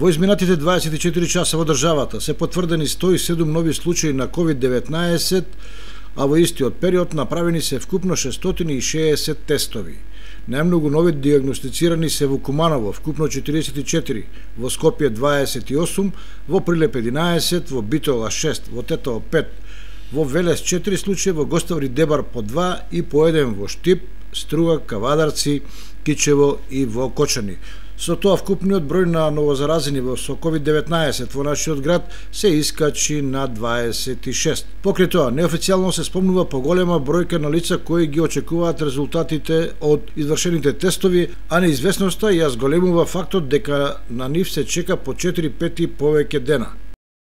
Во изминатите 24 часа во државата се потврдени 107 нови случаи на COVID-19, а во истиот период направени се вкупно 660 тестови. Најмногу нови диагностицирани се во Куманово, вкупно 44, во Скопје 28, во Прилеп 11, во Битола 6, во Тетово 5, во Велес 4 случаи, во Гостоври Дебар по 2 и по 1 во Штип, Струга, Кавадарци, Кичево и во Кочани. Со тоа вкупниот број на новозаразени со COVID-19 во нашиот град се искачи на 26. Покрај тоа, неофицијално се спомнува поголема бројка на лица кои ги очекуваат резултатите од извршените тестови, а неизвестноста ја зголемува фактот дека на нив се чека по 4-5 повеќе дена.